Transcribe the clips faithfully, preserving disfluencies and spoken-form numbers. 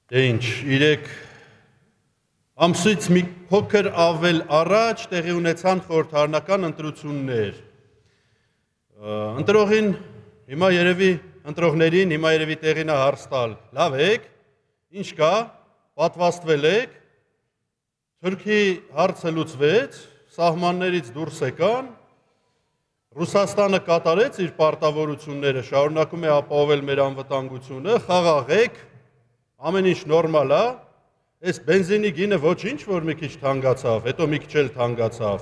Դե ինչ, իրեք ամսից մի փոքր ավել առաջ տեղի ունեցան խորհրդարանական ընտրություններ։ Ընտրողին հիմա երևի ընտրողներին հիմա երևի տեղին է հարց տալ։ Լավ եք, ինչ կա, պատվաստվել եք, Թուրքի հարցը լուծվեց, սահմաններից դուրս եկան, Ռուսաստանը կատարեց իր պարտավորությունները, շարունակում է ապահովել մեր անվտանգությունը, խաղաղ եք, ամեն ինչ նորմալ է, այս բենզինի գինը ոչինչ, որ մի քիչ թանկացավ, հետո մի քիչ էլ թանկացավ,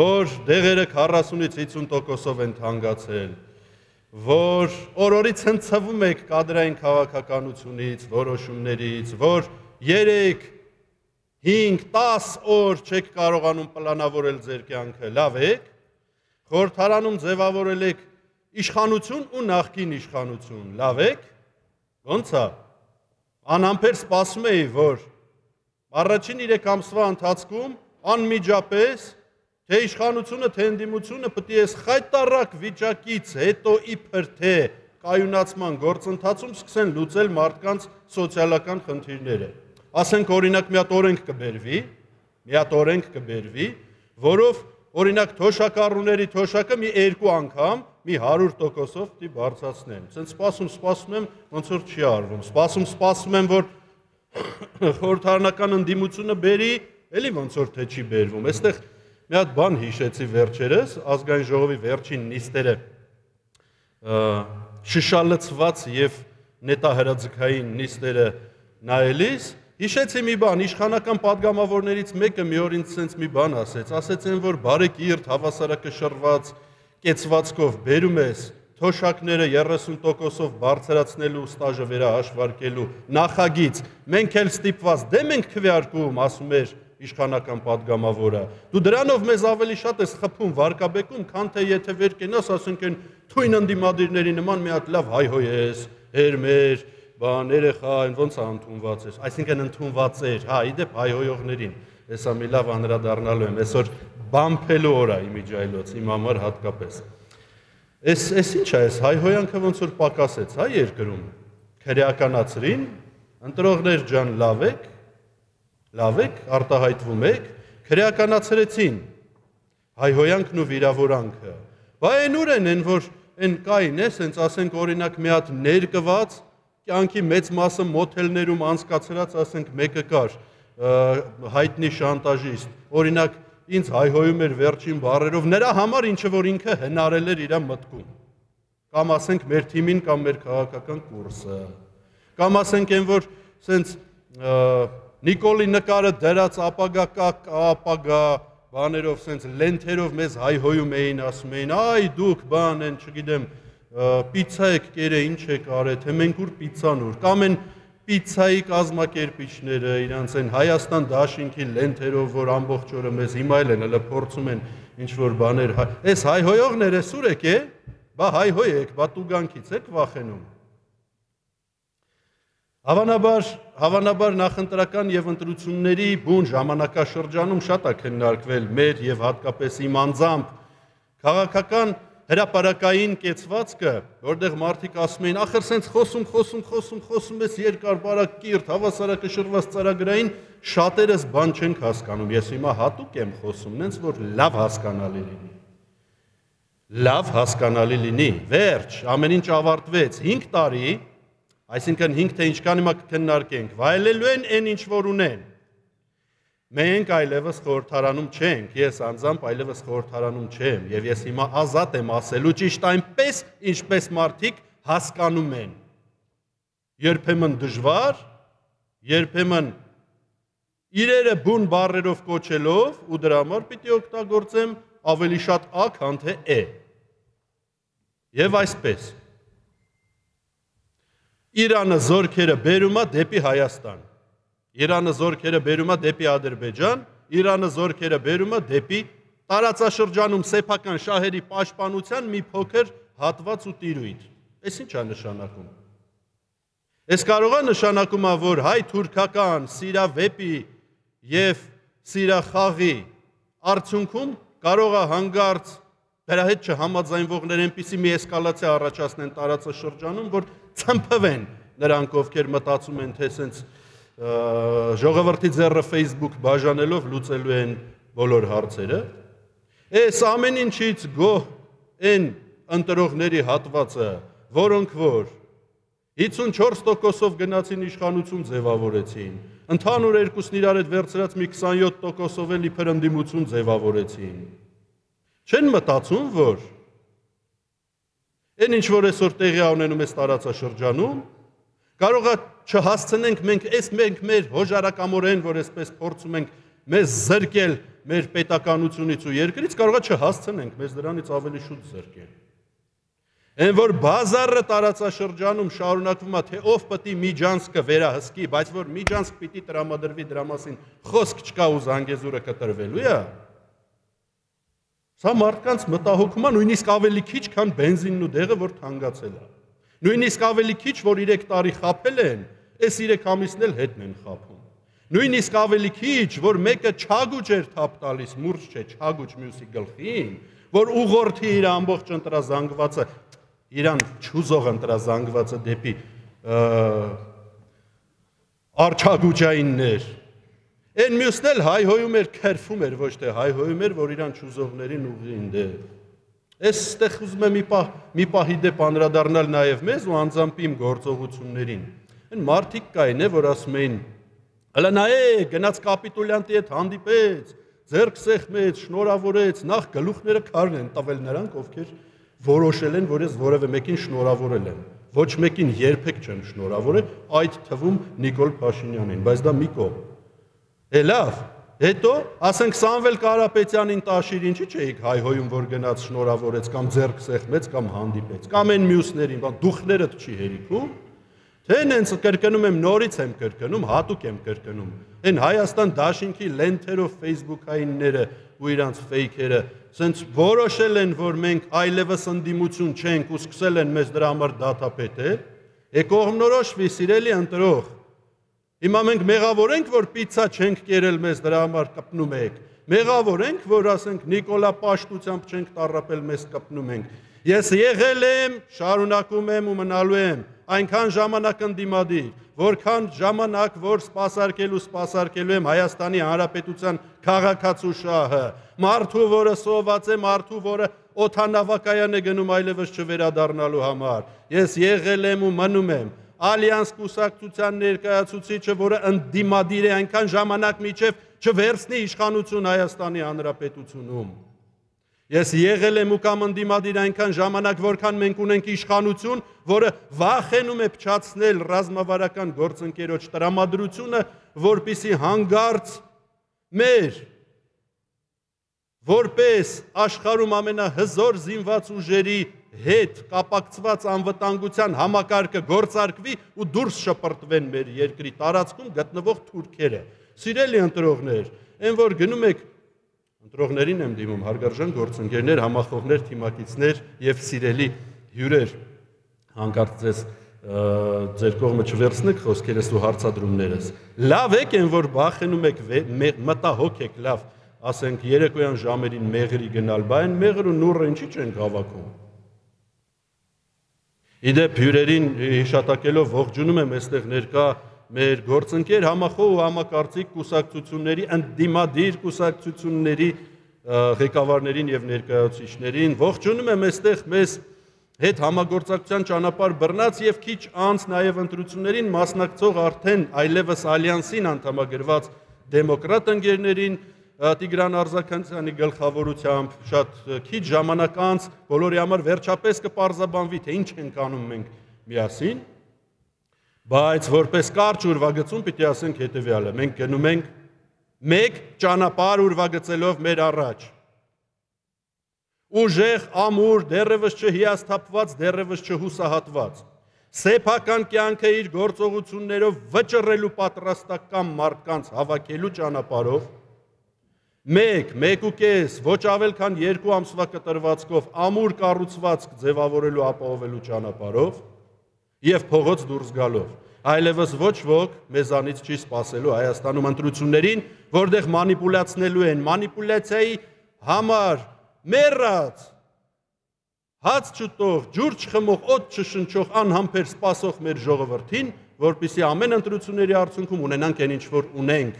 որ դեղերը քառասունից հիսուն տոկոսով են թանկացել, որ օր-օրից հնցվում եք կադրային քաղաքականությունից, որոշումներից, որ երեք, հինգ, տաս օր չեք կարողանում պլանավորել ձեր կյանքը, լավ եք, խորհրդարանում ձևավորել եք իշխանություն ու նախկին իշխանություն, լավ եք, ոնց է, անհամբեր սպասում էի, որ առաջին երեք ամսվա ընթացքում անմիջապես թե իշխանությունը, թե ընդդիմությունը պետք է այս խայտառակ վիճակից հետո իբր թե կայունացման գործընթացում սկսեն լուծել մարդկանց սոցիալական խնդիրները։ Ասենք օրինակ մի հատ օրենք կբերվի, մի հատ օրենք կբերվի, որով օրինակ թոշակառուների թոշակը մի երկու անգամ մի հարյուր տոկոսով պիտի բարձրացնեն։ Սենց սպասում, սպասում եմ, ոնց որ չի արվում։ Սպասում, սպասում եմ, որ խորհրդարանական ընդդիմությունը բերի, էլի ոնց որ թե չի բերվում։ Այստեղ մի հատ բան հիշեցի վերջերս, ազգային ժողովի վերջին նիստերը շշալցված եւ նետահրաձգային նիստերը նայելիս, հիշեցի մի բան, իշխանական պատգամավորներից մեկը մի օր ինձ սենց մի բան ասեց, ասեց են, որ բարեկիրթ հավասարակշռված կեցվածքով բերում ես թոշակները երեսուն տոկոսով բարձրացնելու ստաժը վերահաշվարկելու նախագիծ, մենք էլ ստիպված դեմ ենք քվեարկում, ասում էր իշխանական պատգամավորը, դու դրանով մեզ ավելի շատ ես խփում, վարկաբեկում, քան թե եթե վեր կենաս, ասենք են թույն ընդդիմադիրների նման մի հատ լավ հայհոյ ես, հերմեր, բան, երեխա, ոնց է ընդունված ես, այսինքն ընդունված էր, հա, իդեպ հայհոյողներին, հեսա մի լավ անդրադառնալու եմ, այսօր բամփելու օր է իմիջայլոց, իմ համար հատկապես։ Այս այս ինչ է, այս հայհոյանքը ոնց որ պակասեց, հա, երկրում, քրեականացրին, ընտրողներ ջան, լավ եք, լավ եք, արտահայտվում եք, քրեականացրեցին հայհոյանքն ու վիրավորանքը։ Բա այն ուր են, են որ այն կային է, սենց ասենք օրինակ մի հատ ներկված, կյանքի մեծ մասը մոթելներում անցկացրած, ասենք մեկը կար, հայտնի շանտաժիստ, օրինակ ինձ հայհոյում էր վերջին բառերով, նրա համար ինչը որ ինքը հնարել էր իր մտքում, կամ ասենք մեր թիմին կամ մեր քաղաքական կուրսը, կամ ասենք են որ սենց Նիկոլի նկարը դրած ապագա կակ, ապագա բաներով սենց լենթերով մեզ հայհոյում էին, ասում էին, այ դուք բան են, չգիտեմ, պիցա եք կերը, ինչ եք արել, թե մենք ուր պիցան ուր, կամ են պիցայի կազմակերպիչները, իրանց են Հայաստան դաշինքի լենթերով, որ ամբողջ օրը մեզ հիմա էլ են, հələ փորձում են ինչ-որ բաներ, այս հայհոյողները սուր եք է, բա հայհոյ եք, բա տուգանքից եք վախենում։ Հավանաբար, հավանաբար նախընտրական եւ ընտրությունների բուն ժամանակաշրջանում շատ է քննարկվել մեր եւ հատկապես իմ անձամբ քաղաքական հրապարակային կեցվածքը, որտեղ մարդիկ ասում էին, ախր սենց խոսում, խոսում, խոսում, խոսում ես երկար բարակ կիրթ, հավասարակշռված ծրագրային, շատերս բան չենք հասկանում, ես հիմա հատուկ եմ խոսում, նենց որ լավ հասկանալի լինի։ Լավ հասկանալի լինի, վերջ, ամեն ինչ ավարտվեց, հինգ տարի, այսինքն հինգ թե ինչքան հիմա կքննարկենք, վայելելու են այն ինչ որ ունեն։ Մենք այլևս խորհրդարանում չենք, ես անձամբ այլևս խորհրդարանում չեմ, եւ ես հիմա ազատ եմ ասելու ճիշտ այնպես, ինչպես մարդիկ հասկանում են։ Երբեմն դժվար, երբեմն իրերը բուն բառերով կոչելով ու դրա համար պիտի օգտագործեմ ավելի շատ ա, քան թե է։ Եվ այսպես Իրանը զորքերը բերում է դեպի Հայաստան, Իրանը զորքերը բերում է դեպի Ադրբեջան, Իրանը զորքերը բերում է դեպի տարածաշրջանում սեփական շահերի պաշտպանության մի փոքր հատված ու տիրույթ։ Այս ինչ է նշանակում։ Այս կարող է նշանակում է, որ հայ-թուրքական սիրավեպի եւ սիրախաղի արդյունքում կարող է հանգարց դրա հետ չհամաձայնվողներ այնպիսի մի էսկալացիա առաջացնեն տարածաշրջանում, որ ցմփվեն նրանք ովքեր մտածում են, թե սենց ժողովրդի ձեռը Facebook բաժանելով լուծելու են բոլոր հարցերը։ Այս ամեն ինչից գոհ են ընտրողների հատվածը, որոնք որ հիսունչորս տոկոսով գնացին իշխանություն ձևավորեցին, ընդհանուր երկուսն իրար հետ վերցրած մի քսանյոթ տոկոսով էլ իբր ընդդիմություն ձևավորեցին։ Չեն մտածում, որ այն ինչ որ այսօր տեղի ունենում է տարածաշրջանում, կարող է չհասցնենք մենք այս մենք մեր հոժարակամորեն, որ այսպես փորձում ենք մեզ զրկել մեր պետականությունից ու երկրից, կարող է չհասցնենք մեզ դրանից ավելի շուտ զրկել։ Այն որ բազարը տարածաշրջանում շարունակվում է, թե ով պետք է Միջանցքը վերահսկի, բայց որ Միջանցք պիտի տրամադրվի դրա մասին խոսք չկա ու Զանգեզուրը կտրվելու է։ Սա մարդկանց մտահոգում է նույնիսկ ավելի քիչ, քան բենզինն ու դեղը, որ թանկացել է։ Նույնիսկ ավելի քիչ, որ երեք տարի խաբել են, այս երեք ամիսն էլ հետն են խաբում։ Նույնիսկ ավելի քիչ, որ մեկը չագուճ էր թափ տալիս, մուրջ չէ, չագուճ մյուսի գլխին, որ ուղղորդի իր ամբողջ ընտրազանգվածը, իրան չուզող ընտրազանգվածը դեպի արչագուճայիններ։ Այն մյուսն էլ հայհոյում էր, քերվում էր, ոչ թե հայհոյում էր, որ իրան չուզողներին ուղղին դե։ Այս ստեղ ուզում եմ մի պահի դեպ անդրադառնալ նաև մեզ ու անձամբ իմ գործողություններին։ Այն մարդիկ կային, որ ասում էին, հələ նայեք, գնաց կապիտուլյանտի հետ հանդիպեց, ձեռք սեղմեց, շնորհավորեց, նախ գլուխները քարն են տվել նրանք, ովքեր որոշել են, որ ես որևէ մեկին շնորհավորել եմ։ Ոչ մեկին երբեք չեմ շնորհավորել, այդ թվում Նիկոլ Փաշինյանին, բայց դա մի կողմ։ Է լավ, հետո ասենք Սամվել Կարապետյանին տաշիր ինչի չէիք հայհոյում, որ գնաց շնորհավորեց կամ ձեռք սեղմեց կամ հանդիպեց, կամ այն մյուսներին, բան դուխներդ չի հերիքում, թե նենց կրկնում եմ, նորից եմ կրկնում, հատուկ եմ կրկնում։ Այն Հայաստան դաշինքի լենթերով Facebook-այնները ու իրանց ֆեյքերը սենց որոշել են, որ մենք այլևս ընդդիմություն չենք ու սկսել են մեզ դրա համար դատապետել, է կողմնորոշվի սիրելի ընտրող։ Հիմա մենք մեղավոր ենք, որ պիցցա չենք կերել մեզ դրա համար կպնում եք։ Մեղավոր ենք, որ ասենք Նիկոլա պաշտությամբ չենք տառապել մեզ կպնում ենք։ Ես եղել եմ, շարունակում եմ ու մնալու եմ այնքան ժամանակ ընդդիմադիր, որքան ժամանակ, որ սպասարկելու սպասարկելու եմ Հայաստանի Հանրապետության քաղաքացու շահը, մարդու, որը սոված է, մարդու, որը օդանավակայան է գնում այլևս չվերադառնալու համար։ Ես եղել եմ ու մնում եմ Ալյանս կուսակցության ներկայացուցիչը, որը ընդդիմադիր է այնքան ժամանակ միջև չվերցնի իշխանություն Հայաստանի Հանրապետությունում։ Ես եղել եմ ու կամ ընդդիմադիր այնքան ժամանակ, որքան մենք ունենք իշխանություն, որը վախենում է փչացնել ռազմավարական գործընկերոջ տրամադրությունը, որպիսի հանգարց մեր որպես աշխարհում ամենահզոր զինված ուժերի հետ կապակցված անվտանգության համակարգը գործարկվի ու դուրս շպրտվեն մեր երկրի տարածքում գտնվող թուրքերը։ Սիրելի ընտրողներ, այն որ գնում եք ընտրողներին եմ դիմում, հարգարժան գործընկերներ, համախոհներ, թիմակիցներ եւ սիրելի հյուրեր, հանկարծ ձեզ ձեր կողմը չվերցնեք խոսքերս ու հարցադրումներս։ Լավ եք այն որ բախենում եք մտահոգ եք, լավ, ասենք երեկոյան ժամերին մեղրի գնալ, բան մեղր ու նուռը ինչի չեն հավաքում։ Իդեպ հյուրերին հիշատակելով ողջունում եմ այստեղ ներկա մեր գործընկեր համախոհ ու համակարծիք կուսակցությունների, ընդդիմադիր կուսակցությունների ղեկավարներին եւ ներկայացուցիչներին, ողջունում եմ այստեղ մեզ հետ համագործակցության ճանապարհ բռնած եւ քիչ անց նաեւ ընտրություններին մասնակցող արդեն այլևս ալյանսին անդամագրված դեմոկրատ ընկերներին, Տիգրան Արզականյանի գլխավորությամբ շատ քիչ ժամանակ անց բոլորի համար վերջապես կպարզաբանվի, թե ինչ ենք անում մենք միասին, բայց որպես կարճ ուրվագծում պիտի ասենք հետևյալը, մենք գնում ենք մեկ ճանապարհ ուրվագծելով մեր առաջ, ուժեղ, ամուր, դեռևս չհիասթափված, դեռևս չհուսահատված, սեփական կյանքը իր գործողություններով վճռելու պատրաստական մարդկանց հավաքելու ճանապարհով, Մեկ, մեկ ու կես, ոչ ավել քան երկու ամսվա կտրվածքով ամուր կառուցվածք ձևավորելու ապահովելու ճանապարհով եւ փողոց դուրս գալով։ Այլևս ոչ ոք մեզանից չի սպասելու Հայաստանում ընտրություններին, որտեղ մանիպուլացնելու են մանիպուլյացիայի համար մեռած հաց չուտող, ջուր չխմող, օդ չշնչող անհամբեր սպասող մեր ժողովրդին, որպեսզի ամեն ընտրությունների արդյունքում ունենանք այն ինչ որ ունենք։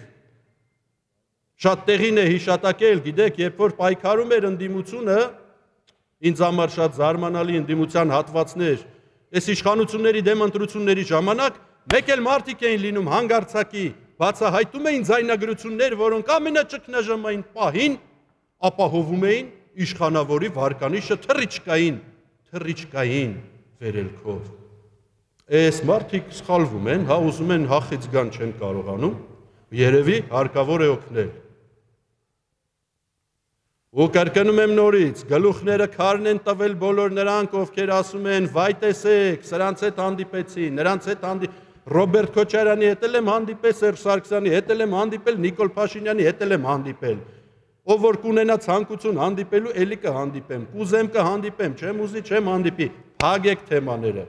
Շատ տեղին է հիշատակել, գիտեք, երբ որ պայքարում էր ընդդիմությունը, ինձ համար շատ զարմանալի ընդդիմության հատվածներ, այս իշխանությունների դեմ ընտրությունների ժամանակ մեկ էլ մարդիկ էին լինում հանգարցակի, բացահայտում էին ձայնագրություններ, որոնք ամենաճգնաժամային պահին ապահովում էին իշխանավորի վարկանիշը թռիչքային, թռիչքային վերելքով։ Այս մարդիկ սխալվում են, հա ուզում են հախից գան չեն կարողանում, երևի հարկավոր է օգնել։ Ու կրկնում եմ նորից, գլուխները քարն են տվել բոլոր նրանք, ովքեր ասում են, վայ տեսեք, սրանց հետ հանդիպեցի, նրանց հետ հանդիպեցի, Ռոբերտ Քոչարյանի հետ եմ հանդիպել, Սերժ Սարգսյանի հետ եմ հանդիպել, Նիկոլ Փաշինյանի հետ եմ հանդիպել։ Ով որ կունենա ցանկություն հանդիպելու, էլի կհանդիպեմ, կուզեմ կհանդիպեմ, չեմ ուզի, չեմ հանդիպի, փագեք թեմաները։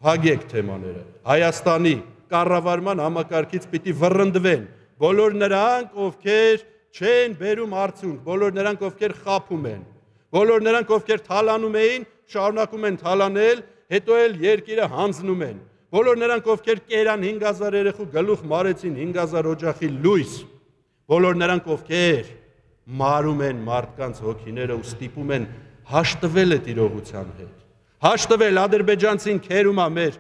Փագեք թեմաները։ Հայաստանի կառավարման համակարգից պիտի վռնդվեն բոլոր նրանք, ովքեր չեն բերում արդյունք, բոլոր նրանք, ովքեր խաբում են, բոլոր նրանք, ովքեր թալանում էին, շարունակում են թալանել, հետո էլ երկիրը հանձնում են, բոլոր նրանք, ովքեր կերան հինգ հազար երեխու գլուխ մարեցին հինգ հազար օջախի լույս, բոլոր նրանք, ովքեր մարում են մարդկանց հոգիները ու ստիպում են հաշտվել այդ իրողության հետ, հաշտվել ադրբեջանցին քերում է մեր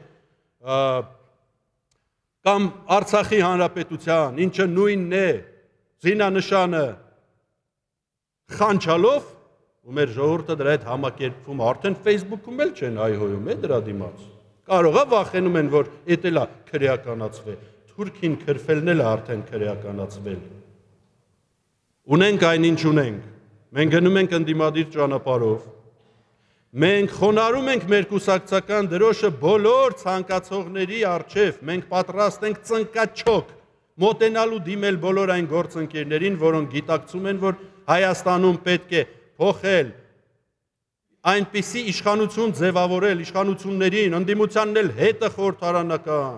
կամ Արցախի հանրապետության, ինչը նույնն է, զինանշանը խանչալով, ու մեր ժողովուրդը դրա հետ համակերպվում, արդեն Facebook-ում էլ չեն հայհոյում է դրա դիմաց։ Կարող է վախենում են, որ էդ էլ է քրեականացվել, Թուրքին քրֆելն էլ է արդեն քրեականացվել։ Ունենք այնինչ ունենք, մենք գնում ենք ընդդիմադիր ճանապարհով, մենք խոնարհում ենք մեր կուսակցական դրոշը բոլոր ցանկացողների առջև, մենք պատրաստ ենք ծնկաչոք մոտենալու դիմել բոլոր այն գործընկերներին, որոնք գիտակցում են, որ Հայաստանում պետք է փոխել այնպիսի իշխանություն ձևավորել, իշխանություններին, ընդդիմությանն էլ հետը խորհրդարանական,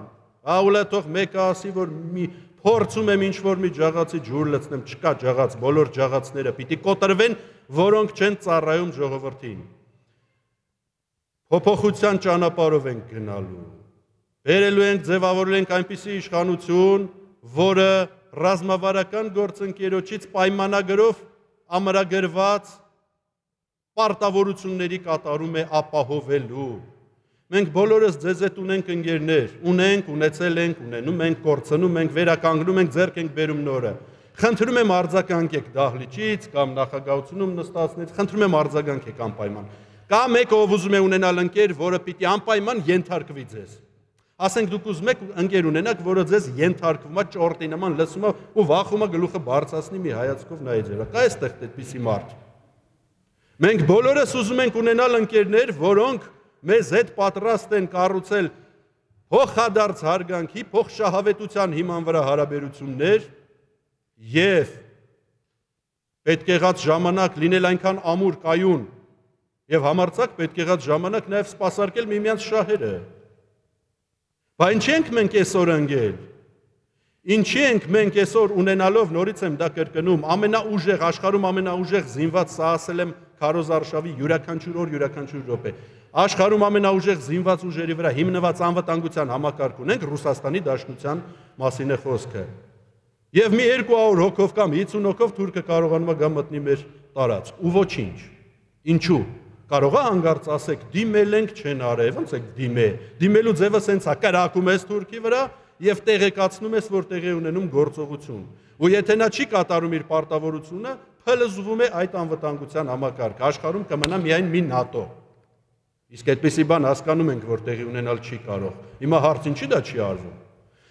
աուլա թող մեկը ասի, որ մի փորձում եմ ինչ-որ մի ջաղացի ջուր լցնեմ, չկա ջաղաց, բոլոր ջաղացները պիտի կոտրվեն, որոնք չեն ծառայում ժողովրդին։ Փոփոխության ճանապարհով ենք գնալու, բերելու ենք, ձևավորել ենք այնպիսի իշխանություն, որը ռազմավարական գործընկերոջից պայմանագրով ամրագրված պարտավորությունների կատարում է ապահովելու։ Մենք բոլորս ձեզ հետ ունենք ընկերներ, ունենք, ունեցել ենք, ունենում ենք, կորցնում ենք, վերականգնում ենք, ձեռք ենք բերում նորը։ Խնդրում եմ արձագանքեք դահլիճից կամ նախագահությունում նստածներից, խնդրում եմ արձագանքեք անպայման։ Կա մեկը, ով ուզում է ունենալ ընկեր, որը պիտի անպայման ենթարկվի ձեզ։ Ասենք դուք ուզում եք ընկեր ունենաք, որը ձեզ ենթարկվում է, ճորտի նման լսում է ու վախում է գլուխը բարձրացնի մի հայացքով նայի ձեզ։ Կա այստեղ այդպիսի մարդ։ Մենք բոլորս ուզում ենք ունենալ ընկերներ, որոնք մեզ հետ պատրաստ են կառուցել փոխադարձ հարգանքի, փոխշահավետության հիման վրա հարաբերություններ եւ պետք եղած ժամանակ լինել այնքան ամուր կայուն եւ համարձակ պետք եղած ժամանակ նաեւ սպասարկել միմյանց շահերը։ Բա ինչի ենք մենք այսօր ընկել։ Ինչի ենք մենք այսօր ունենալով, նորից եմ դա կրկնում, ամենաուժեղ աշխարհում ամենաուժեղ զինված, սա ասել եմ Քարոզ Արշավի յուրաքանչյուր օր, յուրաքանչյուր րոպե։ Աշխարհում ամենաուժեղ զինված ուժերի վրա հիմնված անվտանգության համակարգ ունենք, Ռուսաստանի Դաշնության մասին է խոսքը։ Եվ մի երկու հարյուր հոգով կամ հիսուն հոգով թուրքը կարողանում է գա մտնի մեր տարածք, ու ոչինչ։ Ինչու։ Կարող է հանգարց ասեք, դիմել ենք չեն արել, ոնց է դիմե։ Դիմելու ձևը սենց է, կրակում ես Թուրքի վրա եւ տեղեկացնում ես, որ տեղի ունենում գործողություն։ Ու եթե նա չի կատարում իր պարտավորությունը, փլզվում է այդ անվտանգության համակարգը։ Աշխարհում կմնա միայն մի ՆԱՏՕ։ Իսկ այդպիսի բան հասկանում ենք, որ տեղի ունենալ չի կարող։ Հիմա հարց ինչի դա չի արվում։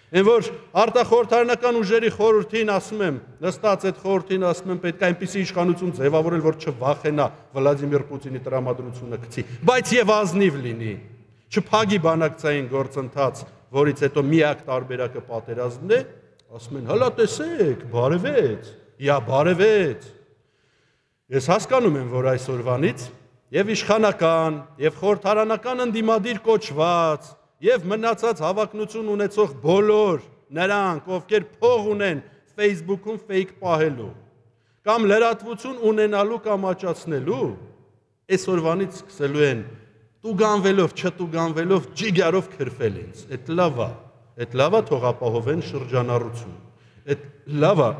Այն որ արտախորհրդարանական ուժերի խորհրդին ասում եմ, նստած այդ խորհրդին ասում եմ, պետք է այնպիսի իշխանություն ձևավորել, որ չվախենա Վլադիմիր Պուտինի տրամադրությունը գցի, բայց եւ ազնիվ լինի, չփագի բանակցային գործընթաց, որից հետո միակ տարբերակը պատերազմն է, ասում են, հələ տեսեք, բարևեց, իա բարևեց։ Ես հասկանում եմ, որ այսօրվանից եւ իշխանական, եւ խորհրդարանական ընդդիմադիր կոչված Եվ մնացած հավակնություն ունեցող բոլոր նրանք, ովքեր փող ունեն Facebook-ում fake պահելու, կամ լրատվություն ունենալու կամ աճացնելու, այսօրվանից սկսելու են տուգանվելով, չտուգանվելով, ջիգարով քրֆել ինձ։ Այդ լավ է, այդ լավ է թող ապահովեն շրջանառություն։ Այդ լավ է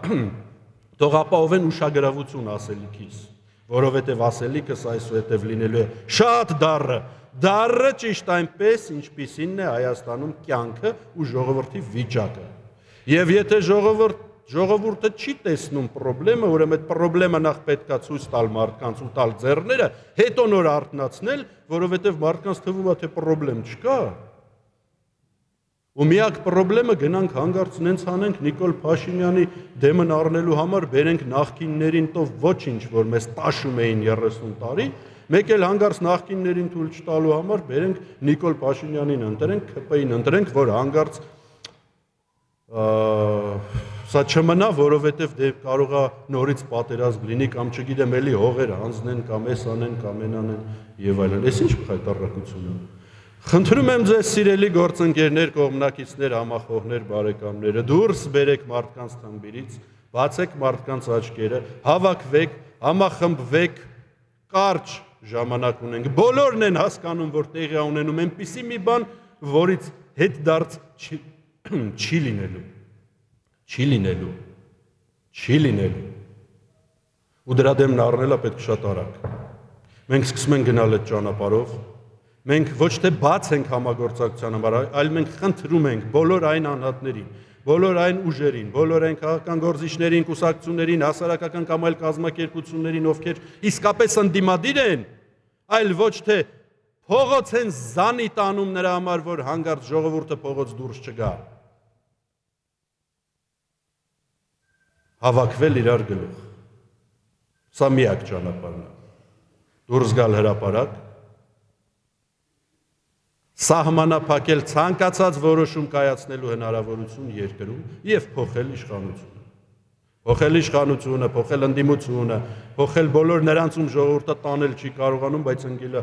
թող ապահովեն ուշագրավություն ասելիքիս, որովհետև ասելիքս այսուհետև լինելու է շատ դառը, դառը ճիշտ այնպես, ինչպիսին է Հայաստանում կյանքը ու ժողովրդի վիճակը։ Եվ եթե ժողովուրդ Ժողովուրդը չի տեսնում պրոբլեմը, ուրեմն այդ պրոբլեմը նախ պետք է ցույց տալ մարդկանց ու տալ ձեռները, հետո նոր արթնացնել, որովհետև մարդկանց թվում է թե պրոբլեմ չկա։ Ու միակ պրոբլեմը գնանք հանգարց նենց անենք Նիկոլ Փաշինյանի դեմն առնելու համար բերենք նախկիններին տով ոչինչ, որ մեզ տաշում էին երեսուն տարի, մեկ էլ հանգարց նախկիններին թույլ չտալու համար բերենք Նիկոլ Փաշինյանին ընտրենք, ՔՊ-ին ընտրենք, որ հանգարց սա չմնա, որովհետև դե կարող է նորից պատերազմ լինի կամ չգիտեմ էլի հողեր հանձնեն կամ էս անեն կամ են անեն եւ այլն։ Էս ինչ խայտարակություն է։ Խնդրում եմ ձեզ սիրելի գործընկերներ, կողմնակիցներ, համախոհներ, բարեկամները, դուրս բերեք մարդկանց թմբիրից, բացեք մարդկանց աչքերը, հավաքվեք, համախմբվեք, կարճ ժամանակ ունենք։ Բոլորն են հասկանում, որ տեղի ունենում այնպիսի մի բան, որից հետդարձ չի լինելու։ Չի լինելու, չի լինելու, ու դրա դեմն առնելը պետք շատ արագ։ Մենք սկսում ենք գնալ այդ ճանապարհով, մենք ոչ թե բաց ենք համագործակցության համար, այլ մենք խնդրում ենք բոլոր այն անհատներին, բոլոր այն ուժերին, բոլոր այն քաղաքական գործիչներին, կուսակցություններին, հասարակական կամ այլ կազմակերպություններին, ովքեր իսկապես ընդդիմադիր են, այլ ոչ թե փողոց են զանի տանում նրա համար, որ հանգարց ժողովուրդը փողոց դուրս չգա։ Հավաքվել իրար գլուխ։ Սա միակ ճանապարհն է։ Դուրս գալ հրապարակ, սահմանափակել ցանկացած որոշում կայացնելու հնարավորություն երկրում եւ փոխել իշխանությունը։ Փոխել իշխանությունը, փոխել ընդդիմությունը, փոխել բոլոր նրանց, ում ժողովուրդը տանել չի կարողանում, բայց ընկելը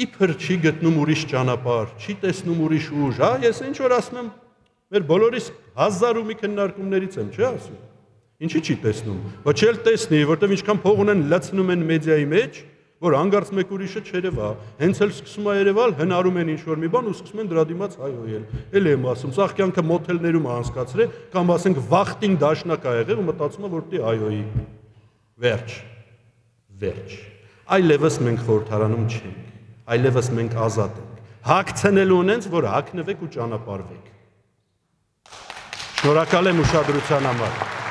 իբր չի գտնում ուրիշ ճանապարհ, չի տեսնում ուրիշ ուժ, հա, ես ինչ որ ասում եմ, մեր բոլորիս հազար ու մի քննարկումներից եմ, չէ՞ ասում։ Ինչի՞ չի տեսնում։ Ոչ էլ տեսնի, որտեվ ինչքան փող ունեն լցնում են մեդիայի մեջ, որ հանգարց մեկ ուրիշը չերևա, հենց էլ սկսում է երևալ, հնարում են ինչ-որ մի բան ու սկսում են դրա դիմաց հայհոյել։ Էլ եմ ասում, սա կյանքը մոթելներում է անցկացրել, կամ ասենք վախտին դաշնակ ա եղել ու մտածում է, որ դի հայհոյի։ Վերջ։ Վերջ։ Այլևս մենք խորհրդարանում չենք, այլևս մենք ազատ ենք։ Հագցնելու ունենց, որ հագնվեք ու ճանապարհվեք։ Շնորհակալ եմ ուշադրության համար։